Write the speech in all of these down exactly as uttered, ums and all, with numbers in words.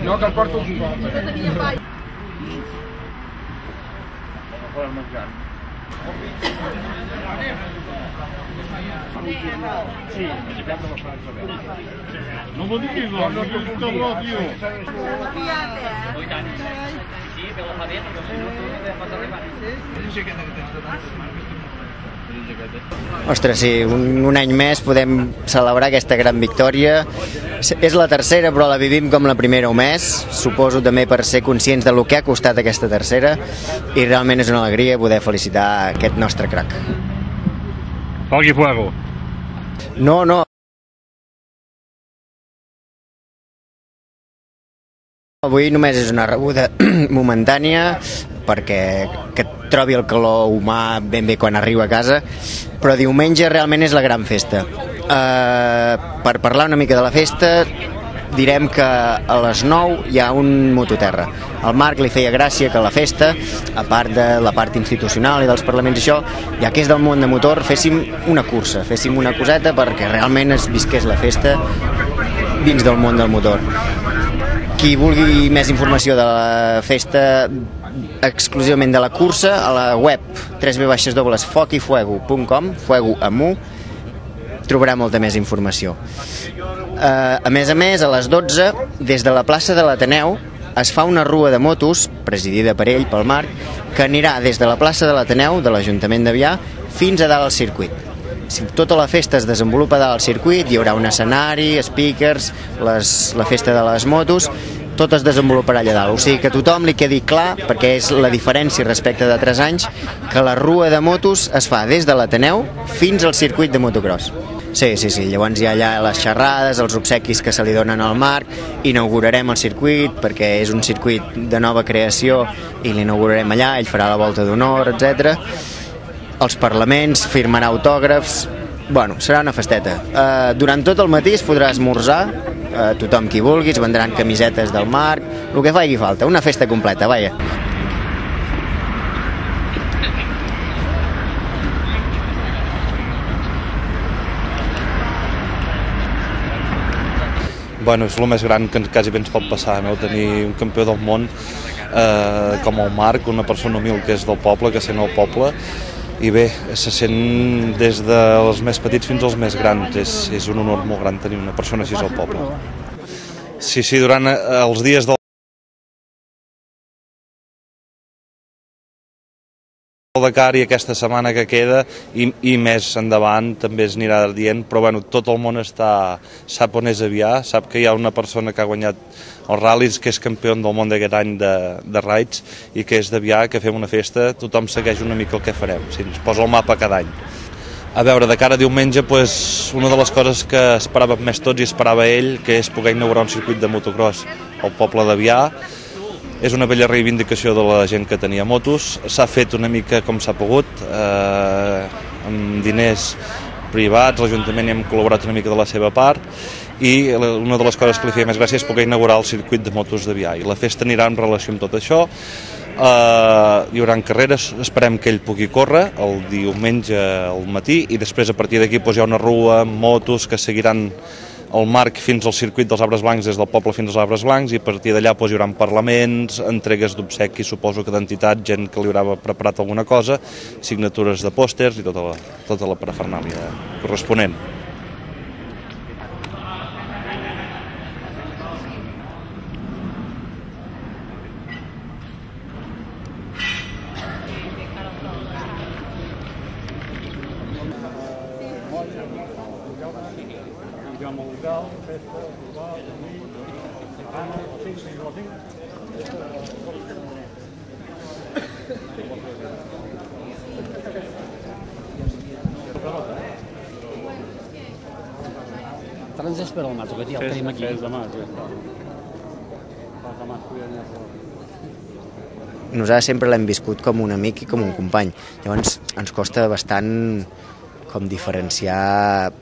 No, que el porto aquí. Sí, no m'ho diguis, no, no és un cabró, tio. Sí, però fa bé, perquè si no tu pots arribar. Ostres, sí, un, un any més podem celebrar aquesta gran victòria. És la tercera, però la vivim com la primera un mes. Suposo també per ser conscients del que ha costat aquesta tercera, i realment és una alegria poder felicitar aquest nostre crac. Foc i fuego. No, no. Avui només és una rebuda momentània perquè que et trobi el calor humà ben bé quan arriba a casa, però diumenge realment és la gran festa. Uh, per parlar una mica de la festa, direm que a les nou hi ha un mototerra. Al Marc li feia gràcia que a la festa, a part de la part institucional i dels parlaments i això, ja que és del món de motor, féssim una cursa, féssim una coseta perquè realment es visqués la festa dins del món del motor. Qui vulgui més informació de la festa, exclusivament de la cursa, a la web w w w punt foc i fuego punt com, fuego amb u, trobarà molta més informació. Uh, a més a més, a les dotze, des de la plaça de l'Ateneu, es fa una rua de motos, presidida per ell, pel Marc, que anirà des de la plaça de l'Ateneu, de l'Ajuntament d'Avià, fins a dalt al circuit. Si tota la festa es desenvolupa dalt al circuit, hi haurà un escenari, speakers, les, la festa de les motos, tot es desenvoluparà allà dalt. O sigui que a tothom li quedi clar, perquè és la diferència respecte de tres anys, que la rua de motos es fa des de l'Ateneu fins al circuit de motocross. Sí, sí, sí, llavors hi ha allà les xerrades, els obsequis que se li donen al Marc, inaugurarem el circuit perquè és un circuit de nova creació i l'inaugurarem allà, ell farà la volta d'honor, etcètera. Els parlaments, firmarà autògrafs. Bueno, serà una festeta. Uh, durant tot el matí es podrà esmorzar, uh, tothom qui vulguis, vendran camisetes del Marc, el que faci falta, una festa completa, vaja. Bueno, és el més gran que quasi bé ens pot passar, no? Tenir un campió del món eh, com el Marc, una persona humil que és del poble, que sent el poble, i bé, se sent des dels més petits fins als més grans. És, és un honor molt gran tenir una persona així al poble. Sí, sí, durant els dies del Dakar i aquesta setmana que queda i, i més endavant també es anirà dient, però bueno, tot el món està, sap on és Avià, sap que hi ha una persona que ha guanyat els ral·lis, que és campió del món d'aquest any de, de raids i que és d'Avià, que fem una festa, tothom segueix una mica el que farem, o sigui, ens posa el mapa cada any. A veure, de cara a diumenge, pues, una de les coses que esperàvem més tots i esperava ell, que és poder inaugurar un circuit de motocross al poble d'Avià. És una bella reivindicació de la gent que tenia motos, s'ha fet una mica com s'ha pogut, eh, amb diners privats, l'Ajuntament hi hem col·laborat una mica de la seva part, i una de les coses que li feia més gràcia és poder inaugurar el circuit de motos d'Avià, i la festa anirà en relació amb tot això. Uh, hi haurà carreres, esperem que ell pugui córrer el diumenge al matí, i després a partir d'aquí doncs, hi ha una rua amb motos que seguiran el Marc fins al circuit dels Arbres Blancs, des del poble fins als Arbres Blancs, i a partir d'allà doncs, hi haurà parlaments, entregues d'obsequis, suposo que d'entitats, gent que li haurà preparat alguna cosa, signatures de pòsters i tota la, tota la parafernàlia corresponent. Ens espera el Marc, que ja el tenim aquí. Nosaltres sempre l'hem viscut com un amic i com un company. Llavors ens costa bastant com diferenciar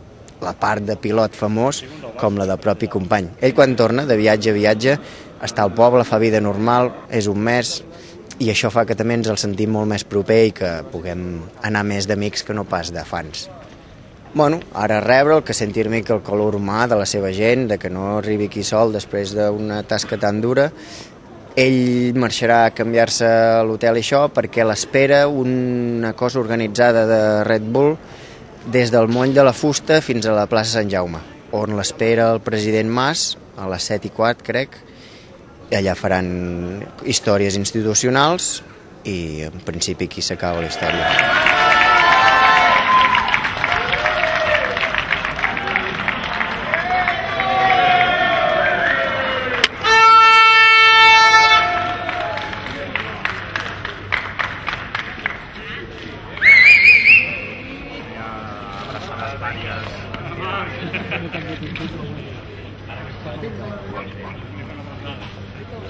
la part de pilot famós com la del propi company. Ell quan torna de viatge a viatge està al poble, fa vida normal, és un mes, i això fa que també ens el sentim molt més proper i que puguem anar més d'amics que no pas de fans. Bueno, ara rebre'l, que senti una mica el calor humà de la seva gent, de que no arribi aquí sol després d'una tasca tan dura. Ell marxarà a canviar-se a l'hotel i això perquè l'espera una cosa organitzada de Red Bull des del Moll de la Fusta fins a la plaça Sant Jaume, on l'espera el president Mas a les set i quart, crec, i allà faran històries institucionals i en principi aquí s'acaba la història.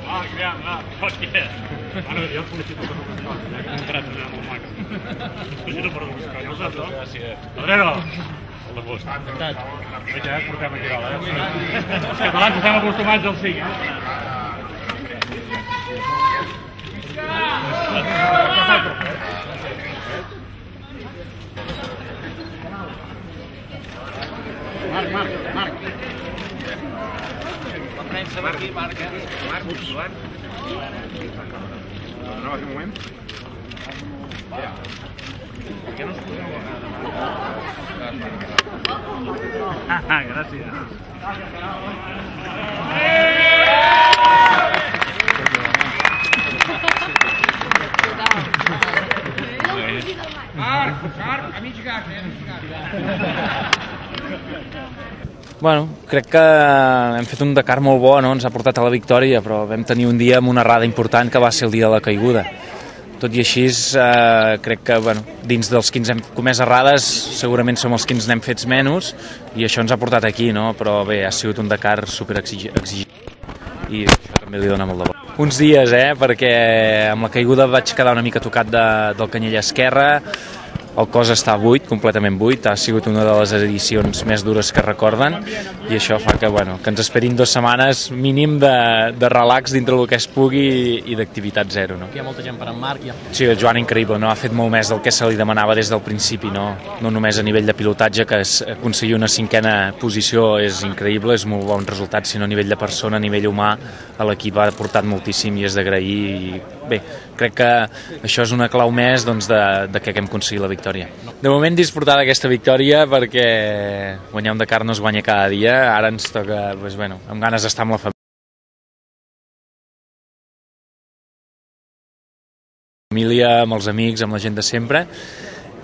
Ah, clar, clar, hòstia. Ara jo el felicito per un contrat molt maco. El felicito per un buscar, no saps, no? Gràcies. Pedrero! El de gust. Encantat. Veig, eh, portem aquí dalt, eh? Els catalans estem acostumats al cinc, eh? Marc, Marc, Marc. La premsa va aquí, Marc, eh? Marc, Joan. No va fer un moment? Ja. Per què no es poseu a vegades? Ah, gràcies. Marc, Marc, amici gatti, amici gatti. Bueno, crec que hem fet un Dakar molt bo, no? Ens ha portat a la victòria, però vam tenir un dia amb una errada important que va ser el dia de la caiguda. Tot i així, eh, crec que bueno, dins dels que ens hem comès errades segurament som els que ens n'hem fets menys i això ens ha portat aquí, no? Però bé, ha sigut un Dakar superexigent i això també li dona molt de bo. Uns dies, eh? Perquè amb la caiguda vaig quedar una mica tocat de, del canyell esquerre, el cos està buit, completament buit, ha sigut una de les edicions més dures que recorden i això fa que, bueno, que ens esperin dues setmanes mínim de, de relax dintre del que es pugui i, i d'activitat zero. No? Hi ha molta gent per en Marc. Ja. Sí, el Joan increïble, no? Ha fet molt més del que se li demanava des del principi, no, no només a nivell de pilotatge, que es, aconseguir una cinquena posició és increïble, és molt bon resultat, sinó a nivell de persona, a nivell humà, a l'equip ha aportat moltíssim i és d'agrair i bé, crec que això és una clau més doncs, de, de que hem aconseguit la victòria. De moment disfrutar d'aquesta victòria perquè guanyar un Dakar no es guanya cada dia, ara ens toca, doncs, bueno, amb ganes d'estar amb la família, amb els amics, amb la gent de sempre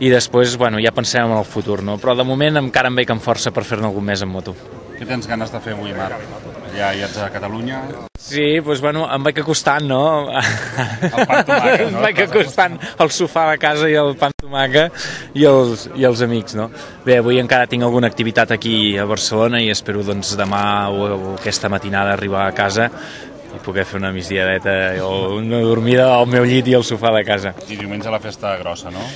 i després bueno, ja pensem en el futur, no? Però de moment encara em veig amb força per fer-ne algun més en moto. Què tens ganes de fer avui, Marc? Ja hi ets a Catalunya? Sí, doncs bueno, em vaig acostant, no? El pa amb tomàquet, no? Em vaig acostant al sofà de casa i el pa amb tomàquet i els, i els amics, no? Bé, avui encara tinc alguna activitat aquí a Barcelona i espero doncs demà o, o aquesta matinada arribar a casa i poder fer una migdiadeta o una dormida al meu llit i al sofà de casa. I diumenge la festa grossa, no?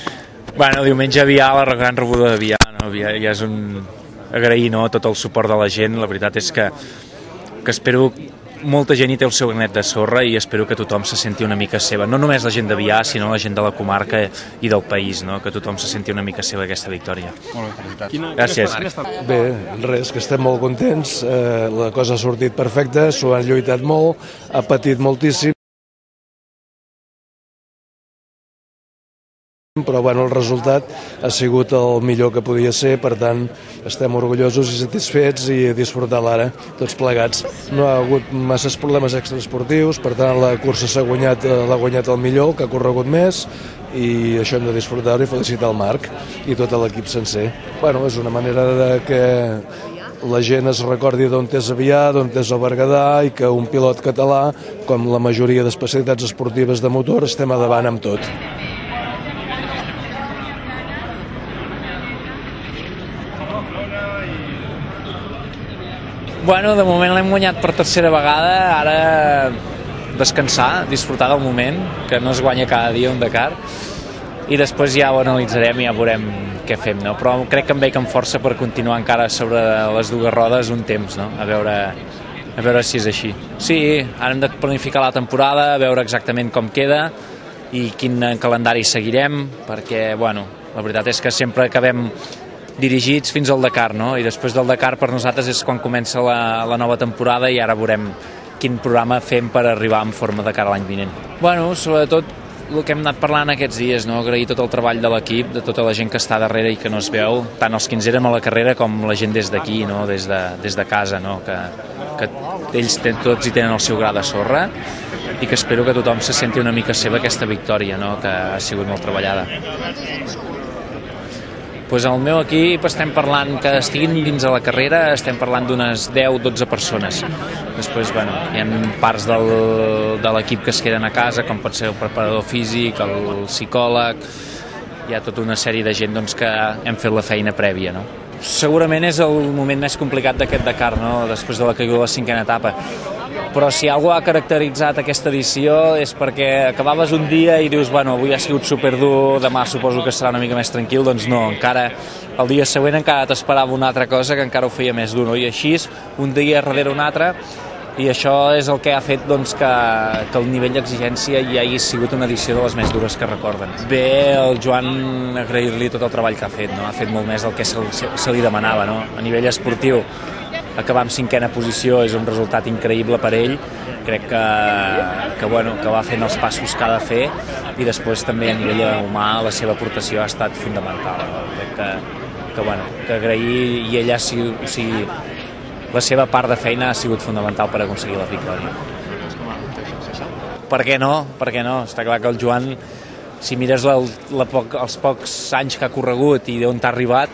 Bueno, diumenge Avià, la gran rebuda d'Avià, no? Avià ja és un... agrair, no?, tot el suport de la gent, la veritat és que, que espero molta gent hi té el seu granet de sorra i espero que tothom se senti una mica seva, no només la gent d'Avià, sinó la gent de la comarca i del país, no?, que tothom se senti una mica seva aquesta victòria. Molt bé, felicitats. Quina, Gràcies. Bé, res, que estem molt contents, eh, la cosa ha sortit perfecta, s'ho han lluitat molt, ha patit moltíssim, però bueno, el resultat ha sigut el millor que podia ser, per tant estem orgullosos i satisfets i a disfrutar l'ara, tots plegats. No ha hagut masses problemes extraesportius, per tant la cursa s'ha guanyat, l'ha guanyat el millor, que ha corregut més, i això hem de disfrutar-ho i felicitar el Marc i tot l'equip sencer. Bueno, és una manera de que la gent es recordi d'on és Avià, d'on és el Berguedà i que un pilot català, com la majoria d'especialitats esportives de motor, estem a davant amb tot. Bueno, de moment l'hem guanyat per tercera vegada, ara descansar, disfrutar del moment, que no es guanya cada dia un Dakar, i després ja ho analitzarem i ja veurem què fem, no? Però crec que em veig amb força per continuar encara sobre les dues rodes un temps, no? A veure, a veure si és així. Sí, ara hem de planificar la temporada, a veure exactament com queda i quin calendari seguirem, perquè, bueno, la veritat és que sempre acabem dirigits fins al Dakar, no? I després del Dakar per nosaltres és quan comença la, la nova temporada i ara veurem quin programa fem per arribar en forma de cara a l'any vinent. Bueno, sobretot el que hem anat parlant aquests dies, no? Agrair tot el treball de l'equip, de tota la gent que està darrere i que no es veu, tant els que ens érem a la carrera com la gent des d'aquí, no? des, de, des de casa, no? que, que ells ten, tots hi tenen el seu gra de sorra i que espero que tothom se senti una mica seva aquesta victòria, no? que ha sigut molt treballada. Pues al meu equip estem parlant que estiguin dins de la carrera, estem parlant d'unes deu o dotze persones. Després, bueno, hi ha parts del, de l'equip que es queden a casa, com pot ser el preparador físic, el psicòleg, hi ha tota una sèrie de gent doncs, que hem fet la feina prèvia, no? Segurament és el moment més complicat d'aquest Dakar, no? Després de la caiguda de la cinquena etapa. Però si algú ha caracteritzat aquesta edició és perquè acabaves un dia i dius, bueno, avui ha sigut superdur, demà suposo que serà una mica més tranquil, doncs no, encara el dia següent encara t'esperava una altra cosa que encara ho feia més dur, no? I així, un dia darrere un altre, i això és el que ha fet doncs, que, que el nivell d'exigència ja hagi sigut una edició de les més dures que recorden. Bé, el Joan, agrair-li tot el treball que ha fet, no? Ha fet molt més del que se, se li demanava, no? A nivell esportiu, acabar en cinquena posició és un resultat increïble per ell, crec que, que, bueno, que va fent els passos que ha de fer i després també a nivell humà la seva aportació ha estat fonamental, no? Crec que, que, bueno, que agrair i ella sí, o sigui, la seva part de feina ha sigut fonamental per aconseguir la victòria. Per què no? Per què no? Està clar que el Joan, si mires la, la poc, els pocs anys que ha corregut i d'on t'ha arribat,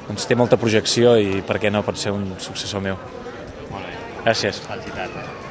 doncs té molta projecció i per què no pot ser un successor meu. Molt bé. Gràcies. Felicitats.